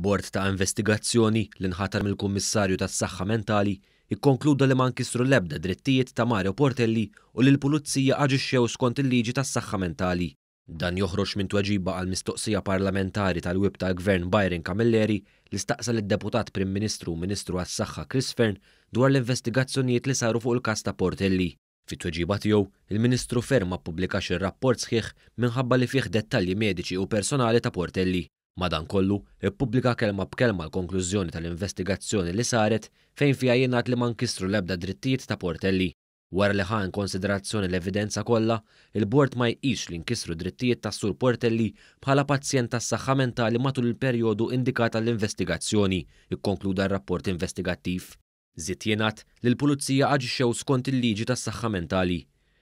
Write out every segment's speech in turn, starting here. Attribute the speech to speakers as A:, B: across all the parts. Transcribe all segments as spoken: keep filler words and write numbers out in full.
A: Bord ta' investigazzjoni li nħatar mill-Kummissarju tas-Saħħa Mentali ikkonkluda li ma nkisru l-ebda drittijiet ta' Mario Portelli u li l-Pulizija aġixxew skont il-liġi tas-saħħa mentali. Dan joħroġ minn tweġiba għal mistoqsija parlamentari tal-Whip tal-Gvern Byron Camilleri li staqsa lid-Deputat Prim Ministru u Ministru għas-Saħħa Chris Fearne dwar l-investigazzjonijiet li saru fuq il-każ ta' Portelli. Fit-tweġiba tiegħu, il-Ministru Fearne ma ppubblikax ir-rapport sħiħ minħabba li fih dettalji mediċi u personali ta' Portelli. Madankollu, ippubblika kelma b'kelma l-konklużjoni tal-investigazzjoni li saret fejn fiha jingħad li ma nkisru l-ebda drittijiet ta' Portelli. Wara li ħa in konsiderazzjoni l-evidenza kollha, il-bord ma jqisx li nkisru drittijiet tas-Sur Portelli bħala pazjent tas-saħħa mentali matul il-perjodu indikat għall-investigazzjoni, ikkonkluda r-rapport investigattiv. Żied jingħad li l-Pulizija aġixxew skont il-liġi tas-saħħa mentali.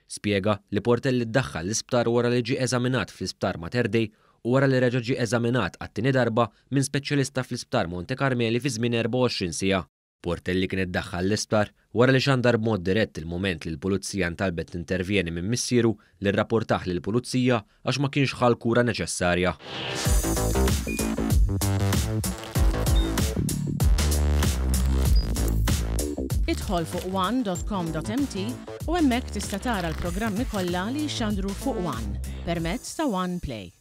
A: Spjega li Portelli ddaħħal l-isptar wara li ġie eżaminat fl-isptar Mater Dei u wara li reġa' ġie eżaminat għat-tieni darba minn speċjalista fl-isptar Monte Carmeli fi żmien erbgħa u għoxrin siegħa. Portelli kien iddaħħal l-isptar wara li xandar b'mod dirett il-mument li l-Pulizija ntalbet tintervjeni minn missieru li rrapportah lill-Pulizija għax ma kienx ħa l-kura neċessarja.
B: Idħol fuq one dot com dot m t u hemmhekk tista' tara l-programmi kollha li jixxandru fuq One permezz ta' One Play.